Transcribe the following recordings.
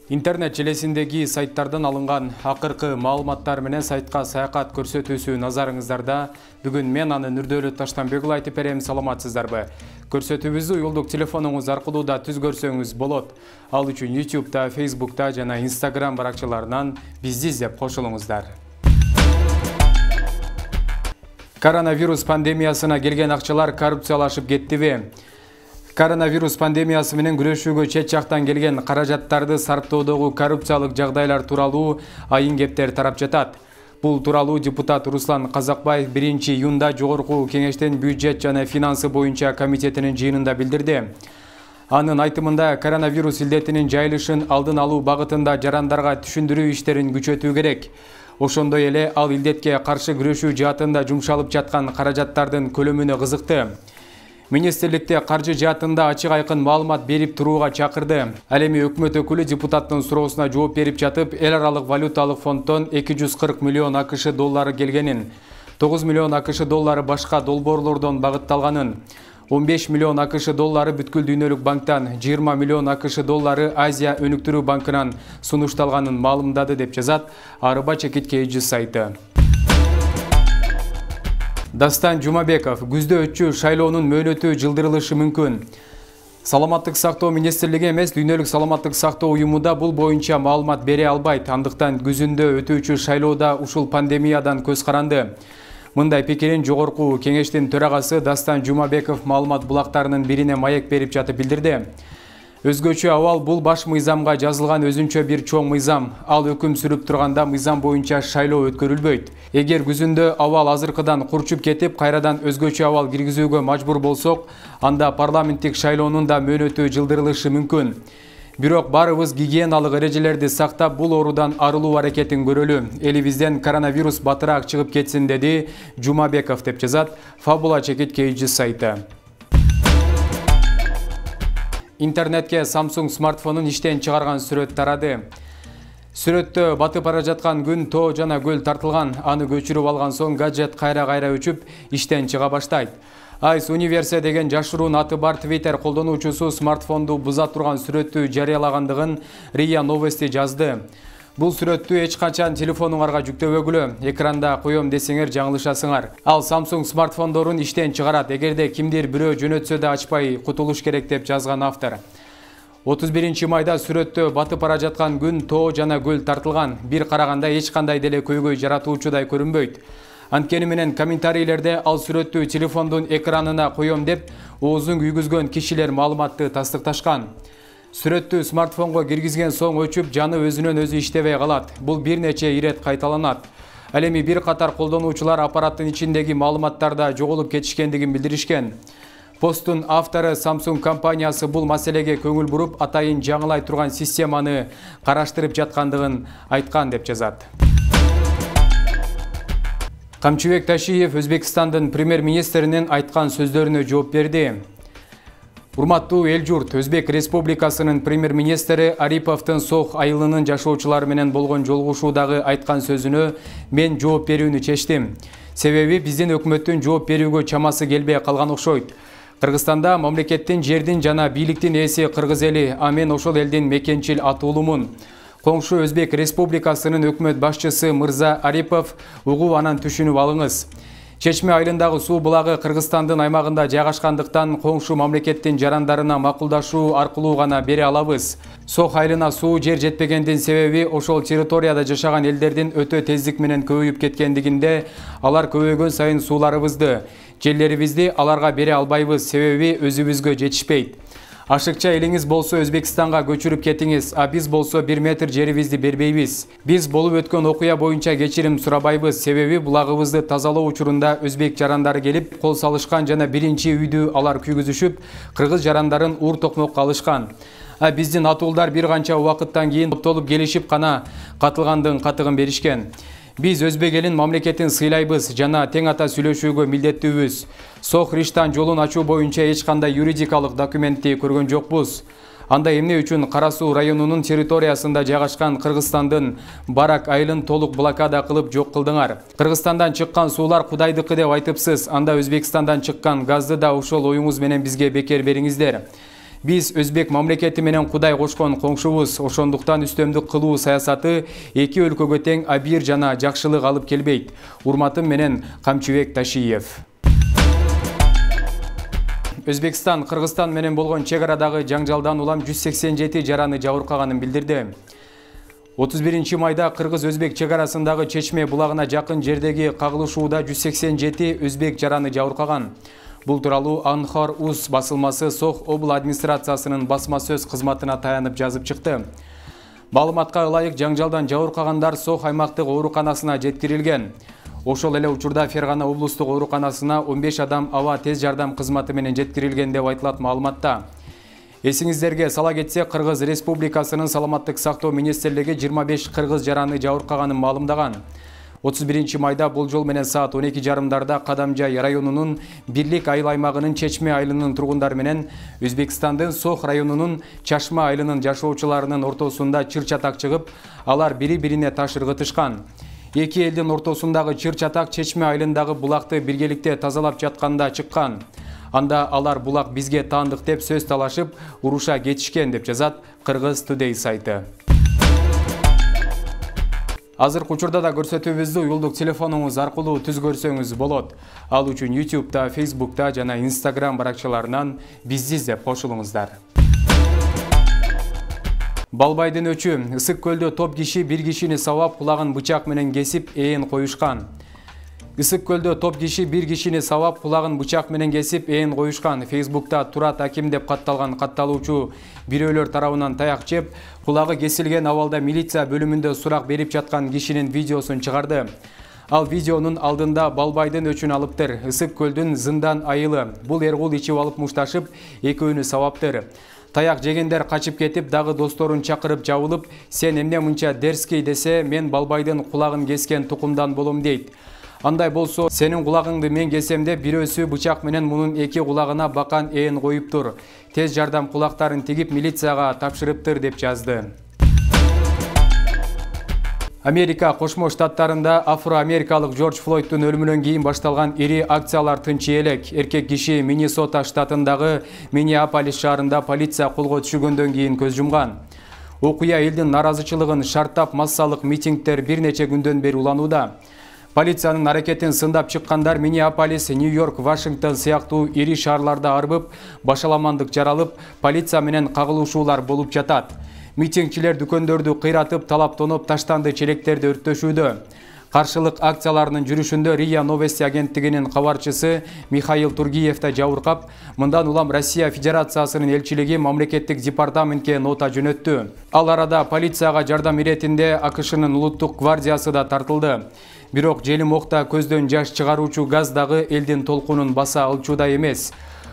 Интернет желесиндеги сайттардан алынган акыркы маалыматтар менен сайтка саякат көрсөтүүсү назарыңыздарда. Бүгүн мен аны Нурдөлөт Таштанбекұлы айтып берем. Саламатсыздарбы? Көрсөтүүбүздү уюлдук телефонуңуз аркылуу да түз көрсөңүз болот. Ал үчүн YouTube'да, Facebook'та жана Instagram баракчаларынан бизди издеп кошулуңуздар. Коронавирус пандемиясына келген акчалар коррупциялашып кеттиби? Коронавирус пандемиясы менен күрөшүүгө чет жактан келген каражаттарды сарптоодогу коррупциялык жагдайлар тууралуу айын кептер тарап жатат. Бул тууралуу депутат Руслан Казакбаев 1-июнда Жогорку Кеңештин бюджет жана финансы боюнча комитетинин жыйынында билдирди. Анын айтымында коронавирус илдетинин жайылышын алдын алуу багытында жарандарга түшүндүрүү иштерин күчөтүү керек. Ошондой эле ал илдетке каршы күрөшүү жаатында жумшалып жаткан каражаттардын көлөмүнө кызыкты. Министрликте каржы жаатында ачык айкын маалымат берип турууга чакырды. Ал эми өкмөт өкүлү депутаттын суроосуна жооп берип жатып, эл аралык валюталык фонддон 240 миллион АКШ доллары келгенин, 9 миллион АКШ доллары башка долбоорлордон багытталганын, 15 миллион АКШ доллары бүткүл дүйнөлүк банктан, 20 миллион АКШ доллары Азия өнүктүрүү банкынан сунушталганын маалымдады деп жазат Арыба Чекит KG сайты. Дастан Жумабеков күздө өтчү шайлоонун мөөнөтү жылдырылышы мүмкүн. Саламаттык сактоо министрлиги эмес, дүйнөлүк саламаттык сактоо уюму да бул боюнча маалымат бере албайт. Андыктан күзүндө өтүүчү шайлоодо ушул пандемиядан көз каранды. Мындай пикирин Жогорку Кеңештин төрагасы Дастан Жумабеков маалымат булактарынын бирине маек берип жатып билдирди. Өзгөчө абал бул баш мыйзамга жазылган өзүнчө бир чоң мыйзам. Ал өкүм сүрүп турганда мыйзам боюнча шайлоо өткөрүлбөйт. Эгер күзүндө абал азыркыдан курчуп кетип, кайрадан өзгөчө абал киргизүүгө мажбур болсок, анда парламенттик шайлоонун да мөөнөтү жылдырылышы мүмкүн. Бирок барыбыз гигиеналык эрежелерди сактап, бул оорудан арылуу аракетин көрөлү. Элибизден коронавирус батыраак чыгып кетсин, деди Жумабеков деп жазат Фабула Чекит KG сайты. Интернетке Samsung смартфонун иштен чыгарган сүрөт тарады. Сүрөттө батып бара жаткан күн, тоо жана көл тартылган. Аны көчүрүп алган соң гаджет кайра-кайра өчүп, иштен чыга баштайт. Ice Universe деген жашыруун аты бар Twitter колдонуучусу смартфонду буза турган сүрөттү жарыялагандыгын RIA Новости жазды. Бул сүрөттү эч качан телефонуңарга жүктөбөгүлө, экранда коем десеңер жаңылышасыңар. Ал Samsung смартфондорун иштен чыгарат. Эгерде кимдир бирөө жөнөтсө да ачпай кутулуш керек деп жазган автор. 31 майда сүрөттө батып бара жаткан күн, тоо жана көл тартылган. Бир караганда эч кандай деле көйгөй жаратуучудай көрүнбөйт. Анткени менен комментарийлерде ал сүрөттү телефондун экранына коем деп оозун күйгүзгөн кишилер маалыматты тастыкташкан. Сүрөттү смартфонго киргизген соң өчүп, жаны өзүнөн өзү иштебей калат. Бул бир нече ирет кайталанат. Ал эми бир катар колдонуучулар аппараттын ичиндеги маалыматтарда жоголуп кетишкендигин билдиришкен. Посттун автору Samsung компаниясы бул маселеге көңүл буруп, атайын жаңылай турган системаны караштырып жаткандыгын айткан деп жазат. Камчыбек Ташиев Өзбекстандын премьер-министринин айткан сөздөрүнө жооп берди. Урматтуу эл журт, Өзбек Республикасынын премьер-министри Ариповдун Сох айылынын жашоочулары менен болгон жолугушуудагы айткан сөзүнө мен жооп берүүнү чечтим. Себеби биздин өкмөттүн жооп берүүгө чамасы келбей калган окшойт. Кыргызстанда мамлекеттин, жердин жана бийликтин ээси кыргыз эли, а мен ошол элдин мекенчил атуулумун. Коңшу Өзбек Республикасынын өкмөт башчысы Мырза Арипов угуп анан түшүнүп алыңыз. Чечме айылындагы суу булагы Кыргызстандын аймагында жайгашкандыктан коңшу мамлекеттин жарандарына макулдашуу аркылуу гана бере алабыз. Сох айылына суу жер жетпегендин себеби ошол территорияда жашаган элдердин өтө тездик менен көбөйүп кеткендигинде, алар көбөйгөн сайын сууларыбызды, жерлерибизди аларга бере албайбыз, себеби өзүбүзгө жетишпейт. Ашыкча элиңиз болсо Өзбекстанга көчүрүп кетиңиз, а биз болсо 1 метр жерибизди бербейбиз. Биз болуп өткөн окуя боюнча кечирим сурабайбыз, себеби булагыбызды тазалоо учурунда өзбек жарандары келип кол салышкан жана биринчи үйдү алар күйгүзүшүп, кыргыз жарандарын ур токмокко алышкан. А биздин атуулдар бир канча убакыттан кийин топтолуп келишип гана катылгандын катыгын беришкен. Биз өзбек элин мамлекетин сыйлайбыз жана тең ата сүйлөшүүгө милдеттүүбүз. Сох Риштан жолун ачуу боюнча эч кандай юридикалык документти көргөн жокпуз. Анда эмне үчүн Кара Суу районунун территориясында жайгашкан Кыргызстандын Барак айылын толук блокада кылып жок кылдыңар? Кыргызстандан чыккан суулар Кудайдыкы деп айтыпсыз. Анда Өзбекстандан чыккан газды да ошол оюңуз менен бизге бекер бериңиздер. Биз өзбек мамлекети менен Кудай кошкон коңшубуз, ошондуктан үстөмдүк кылуу саясаты эки өлкөгө тең абийир жана жакшылык алып келбейт. Урматым менен Камчыбек Ташиев. Өзбекстан Кыргызстан менен болгон чек арадагы жаңжалдан улам 187 жараны жабыркаганын билдирди. 31 майда Кыргыз-Өзбек чек арасындагы Чечме булагына жакын жердеги кагылышууда 187 өзбек жараны жабыркаган. Бул тууралуу Анхар Уз басылмасы Сох обл администрациясынын басма сөз кызматына таянып жазып чыкты. Маалыматка ылайык жаңжалдан жабыркагандар Сох аймактык ооруканасына жеткирилген. Ошол эле учурда Фергана облустук ооруканасына 15 адам аба тез жардам кызматы менен жеткирилген деп айтылат маалыматта. Эсиңиздерге сала кетсек, Кыргыз Республикасынын саламаттык сактоо министрлиги 25 кыргыз жараны жабыркаганын маалымдаган. 31 майда бул жол менен саат 12:30 Кадамжай районунун Бирлик айыл аймагынын Чечме айылынын тургундары менен Өзбекстандын Сох районунун Чашма айылынын жашоочуларынын ортосунда чыр-чатак чыгып, алар бири-бирине таш ыргытышкан. Эки элдин ортосундагы чыр-чатак Чечме айылындагы булакты биргеликте тазалап жатканда чыккан. Анда алар булак бизге таандык деп сөз талашып, уруша кетишкен деп жазат Кыргыз Today сайты. Азыркы учурда да көрсөтүүбүздү уюлдук телефонуңуз аркылуу түз көрсөңүз болот. Ал үчүн YouTube'да, Facebook'та жана Instagram баракчаларынан бизди издеп кошулуңуздар. Балбайдын өчү Ысык көлдө топ киши бир кишини сабап кулагын бычак менен кесип ээн коюшкан. Ысык көлдө топ киши бир кишини сабап кулагын бычак менен кесип ээн коюшкан. Facebook'та Турат Аким деп катталган катталуучу бирөөлөр тарабынан таяк жеп, кулагы кесилген абалда милиция бөлүмүндө сурак берип жаткан кишинин видеосун чыгарды. Ал видеонун алдында Балбайдын өчүн алыптыр. Ысык көлдүн Зындан айылы. Бул эргул ичип алып мушташып, экөөнү сабаптыр. Таяк жегендер качып кетип, дагы досторун чакырып жабылып, сен эмне мынча дерзкий десе, мен Балбайдын кулагын кескен тукумдан болом дейт. Андай болсо, сенин кулагыңды мен кесем деп бирөөсү бычак менен мунун эки кулагына бакан ээн коюптур. Тез жардам кулактарын тигип милицияга тапшырыптыр деп жазды. Америка Кошмо Штаттарында афро-америкалык Джордж Флойдтун өлүмүнөн кийин башталган ири акциялар тынчы элек. Эркек киши Миннесота штатындагы Миннеаполис шаарында полиция колго түшүргөндөн кийин көз жумган. Окуя элдин наразычылыгын шарттап массалык митингдер бир нече күндөн бери уланууда. Полициянын аракетин сындап чыккандар Миннеаполис, Нью-Йорк, Вашингтон сыяктуу ири шаарларда арбып, башаламандык жаралып, полиция менен кагылышуулар болуп жатат. Митингчилер дүкөндөрдү кыйратып, талап-тоноп таштанды челектерди өрттөшүүдө. Каршылык акцияларынын жүрүшүндө РИА Новости агенттигинин кабарчысы Михаил Тургиев да жабыркап, мындан улам Россия Федерациясынын элчилиги мамлекеттик департаментке нота жөнөттү. Ал арада полицияга жардам иретинде АКШнын улуттук гвардиясы да тартылды. Бирок желим окта көздөн жаш чыгаруучу газ дагы элдин толкунун баса алчууда эмес.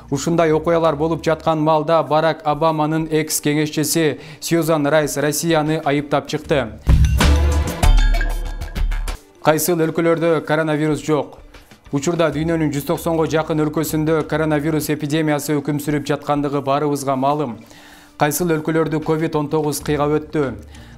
Ушундай окуялар болуп жаткан маалда Барак Обаманын экс-кеңешчиси Сьюзан Райс Россияны айыптап чыкты. Кайсыл өлкөлөрдө коронавирус жок? Учурда дүйнөнүн 190го жакын өлкөсүндө коронавирус эпидемиясы өкүм сүрүп жаткандыгы баарыбызга маалым. Кайсыл өлкөлөрдү COVID-19 кыйгап өттү.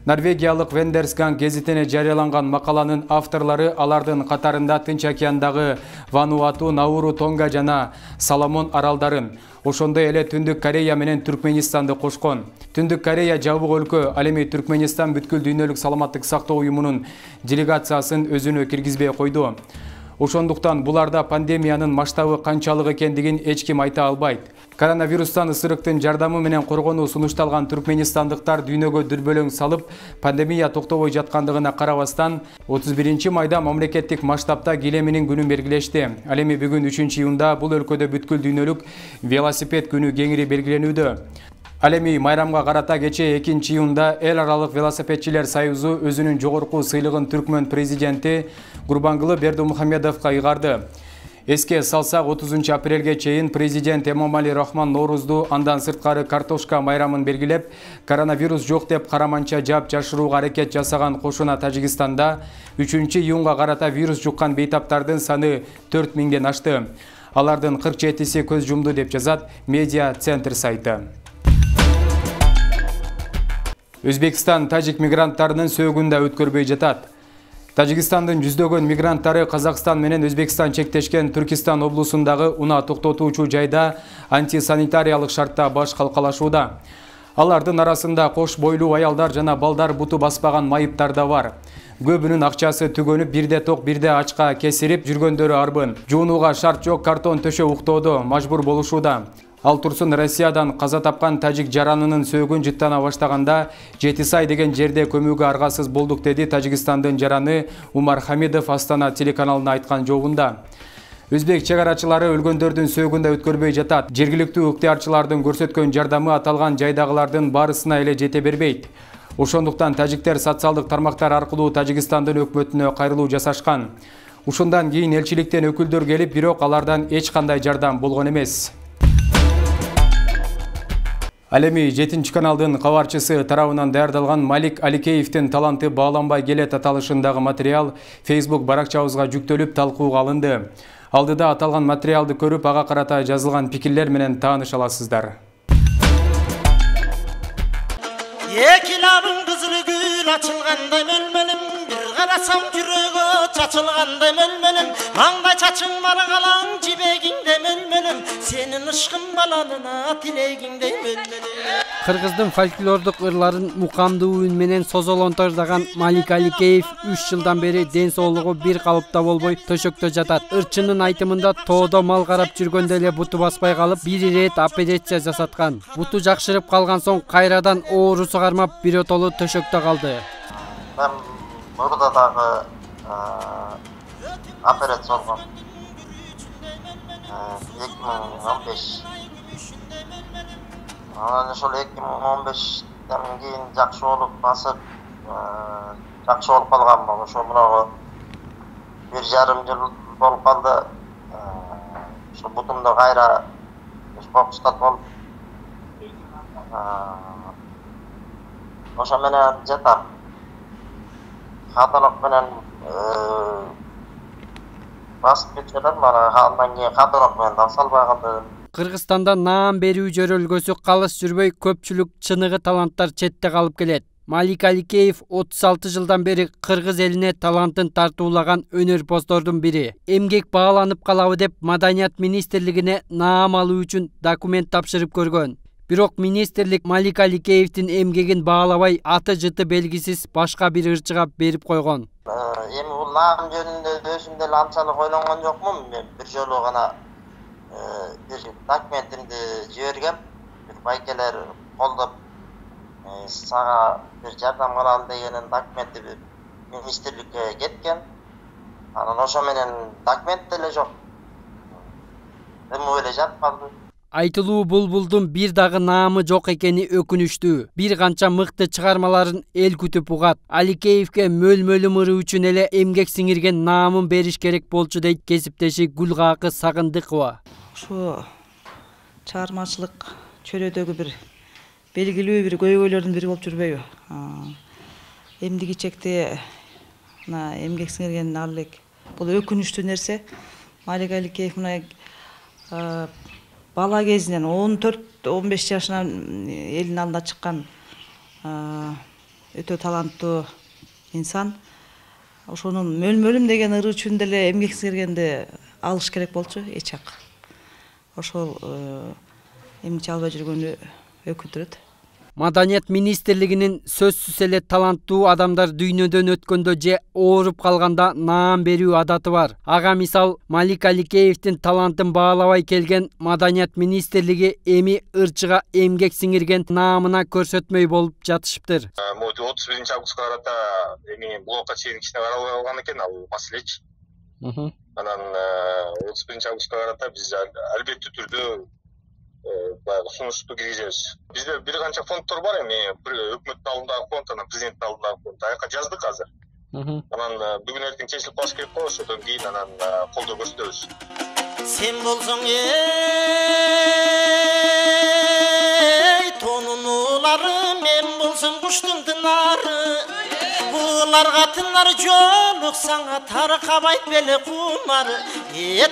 Норвегиялык Вендерсганг гезитине жарыяланган макаланын авторлору алардын катарында Тынч океандагы Вануату, Науру, Тонга жана Соломон аралдарын, ошондой эле Түндүк Корея менен Түркменистанды кошкон. Түндүк Корея жабык өлкө, ал эми Түркменистан бүткүл дүйнөлүк саламаттык сактоо уюмунун делегациясын өзүнө киргизбей койду. Ошондуктан буларда пандемиянын масштабы канчалык экендигин эч ким айта албайт. Коронавирустан ысырыктын жардамы менен коргонуу сунушталган түркменистандыктар дүйнөгө дүрбөлөң салып, пандемия токтобой жаткандыгына карабастан, 31 майда мамлекеттик масштабта килеминин күнүн белгилешти. Ал эми бүгүн 3-июнда бул өлкөдө бүткүл дүйнөлүк велосипед күнү кеңири белгиленүүдө. Ал эми майрамга карата кечээ 2-июнда эл аралык велосипедчилер союзу өзүнүн жогорку сыйлыгын Түркмөн президенти Гурбангулы Бердимухамедовго ыйгарды. Эске салсак, 30 апрелге чейин президент Эмомали Рахмон Ноорузду андан сырткары картошка майрамын белгилеп, коронавирус жок деп караманча жаап жашырууга аракет жасаган кошуна Тажикстанда 3-июнга карата вирус жуккан бейтаптардын саны 4000ден ашты. Алардын 47-си көз жумду деп жазат Медиа Центр сайты. Өзбекстан тажик мигранттарынын сөөгүн да өткөрбөй жатат. Тажикстандын жүздөгөн мигранттары Казакстан менен Өзбекстан чектешкен Түркистан облусундагы унаа токтотуучу жайда антисанитариялык шартта баш калкалашууда. Алардын арасында кош бойлуу аялдар жана балдар буту баспаган майыптар да бар. Көбүнүн акчасы түгөнүп, бирде ток, бирде ачка кесирип жүргөндөрү арбын. Жуунууга шарт жок, картон төшө уктоодо мажбур болушууда. Ал турсун Россиядан каза тапкан тажик жаранынын сөөгүн жыттана баштаганда Жетисай деген жерде көмүүгө аргасыз болдук, деди Тажикстандын жараны Умар Хамидов Астана телеканалына айткан жообунда. Өзбек чегарачылары өлгөндөрдүн сөөгүн да өткөрбөй жатат. Жергиликтүү ыктыярчылардын көрсөткөн жардамы аталган жайдагылардын баарысына эле жете бербейт. Ошондуктан тажиктер социалдык тармактар аркылуу Тажикстандын өкмөтүнө кайрылуу жасашкан. Ушундан кийин элчиликтен өкүлдөр келип, бирок алардан эч кандай жардам болгон эмес. Ал эми 7 каналдын кабарчысы тарабынан даярдалган Малик Аликеевдин таланты бааланбай келет аталышындагы материал Facebook баракчабызга жүктөлүп талкууга алынды. Алдыда аталган материалды көрүп, ага карата жазылган пикирлер менен тааныша аласыздар. Эки лабың кызыл гүл ачылгандай мөлмөлүм, бир карасам жүрөгө чачылгандай мөлмөлүм, маңдай чачың маргалаң жибегиңде мөлмөлүм, сенин ышкың баланына тилегиңдей мөлмөлүм. Кыргыздын фольклордук ырларын мукамдуу үн менен созолонтордогон Малик Аликеев 3 жылдан бери ден соолугу бир калыпта болбой төшөктө жатат. Ырчынын айтымында тоодо мал карап жүргөндө эле буту баспай калып, бир ирет операция жасаткан. Буту жакшырып калган соң кайрадан оорусу кармап биротолу төшөктө калды. Мен мурда дагы операция болгом. 2015. Анан ошол 2015-тен кийин жакшы болуп басып, жакшы болуп калганмын. Ошо мурагы 1,5 жыл болуп калды. Ошо бутумда кайра фокустат болуп, ошо менен жатам. Каталог менен басып кетишет, мана андан кийин каталог менен да салбай калды. Кыргызстанда наам берүү жөрөлгөсү калыс жүрбөй, көпчүлүк чыныгы таланттар четте калып келет. Малик Аликеев 36 жылдан бери кыргыз элине талантын тартуулаган өнөрпоздордун бири. Эмгек бааланып калабы деп Маданият министрлигине наам алуу үчүн документ тапшырып көргөн. Бирок министрлик Малик Аликеевдин эмгегин баалабай, аты жыты белгисиз башка бир ырчыга берип койгон. Эми бул наам жөнүндө өзүм деле анчалык ойлонгон жокмун. Мен бир жолу гана бир документимди жибергем. Бир байкелер колдоп, сага бир жардам кылалы дегенин документи министрликке кеткен. Анан ошо менен документ деле жок. Эми эле жатып калды. Айтылуу булбулдун бир дагы наамы жок экени өкүнүчтүү. Бир канча мыкты чыгармаларын эл күтүп угат. Аликеевге мөлмөлүм ыры үчүн эле эмгек сиңирген наамын бериш керек болчу, дейт кесиптеши Гүлгакы Сагындыкова. Ошо чыгармачылык чөйрөдөгү бир белгилүү бир көйгөйлөрдүн бири болуп жүрбөйбү? Эмдиги чекте мына эмгек сиңирген ал элек бул өкүнүчтүү нерсе. Малик Аликеев мына бала кезинен 14-15 жашынан элдин алдына чыккан өтө таланттуу инсан. Ошонун мөлмөлүм деген ыры үчүн деле эмгек сиңиргенди алыш керек болчу, эч жак. Ошол эмгиче албай жүргөнү өкүндүрөт. Маданият министрлигинин сөзсүз эле таланттуу адамдар дүйнөдөн өткөндө же ооруп калганда наам берүү адаты бар. Ага мисал Малик Аликеевдин талантын баалабай келген Маданият министрлиги эми ырчыга эмгек сиңирген наамына көрсөтмөй болуп жатышыптыр. 31 августка карата эми блокка чейин кичине каралбай калган экен ал маселечи. Анан 31 августка карата биз албеттүү түрдө баягы сунушту киргизебиз. Бизде бир канча фонддор бар эми, өкмөттүн алдындагы фонд, анан президенттин алдындагы фонд. Аяка жаздык азыр. Анан бүгүн эртең чечилип калыш керек го, ошодон кийин анан колдоо көрсөтөбүз. Сен болсоң тонун улары, мен болсом куштун тынары. Буларга тынар жолук саңа таркабайт беле кумар,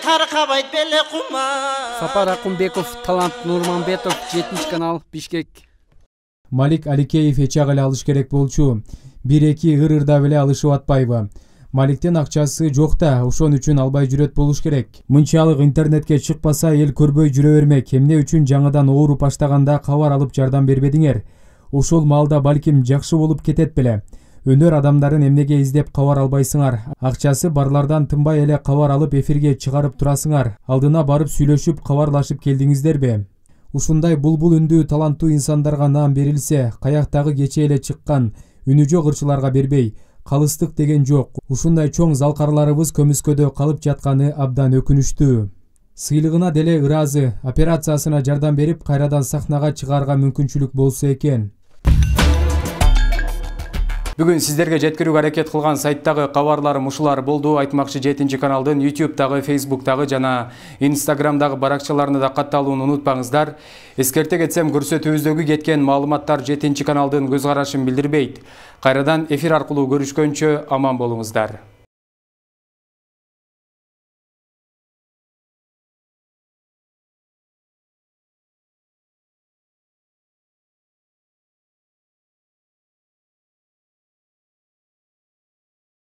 таркабайт беле кумар. Сапар Акунбеков, Талант Нурманбетов, 7 канал, Бишкек. Малик Аликеев эч ак эле алыш керек болчу. 1-2 ыр-ырдап эле алышып атпайбы. Маликтин акчасы жок да, ошон үчүн албай жүрөт болуш керек. Мынчалык интернетке чыкпаса эл көрбөй жүрө бермек. Эмне үчүн жаңыдан ооруп баштаганда кабар алып жардам бербедиңер? Ошол маалда балким жакшы болуп кетет беле. Өнөр адамдарын эмнеге издеп кабар албайсыңар? Акчасы барлардан тынбай эле кабар алып эфирге чыгарып турасыңар. Алдына барып сүйлөшүп, кабарлашып келдиңиздерби? Ушундай булбул үндүү таланттуу инсандарга наам берилсе, каяктагы кече эле чыккан үнү жок ырчыларга бербей, калыстык деген жок. Ушундай чоң залкарларыбыз көмүскөдө калып жатканы абдан өкүнүчтүү. Сыйлыгына деле ыраазы, операциясына жардам берип, кайрадан сахнага чыгарга мүмкүнчүлүк болсо экен. Бүгүн сиздерге жеткирүүгө аракет кылган сайттагы кабарларым ушулар болду. Айтмакчы 7 каналдын YouTube'дагы, Facebook'тагы жана Instagram'дагы баракчаларына да катталууну унутпаңыздар. Эскерте кетсем, көрсөтүүбүздөгү кеткен маалыматтар 7 каналдын көз карашын билдирбейт. Кайрадан эфир аркылуу көрүшкөнчө аман болуңуздар.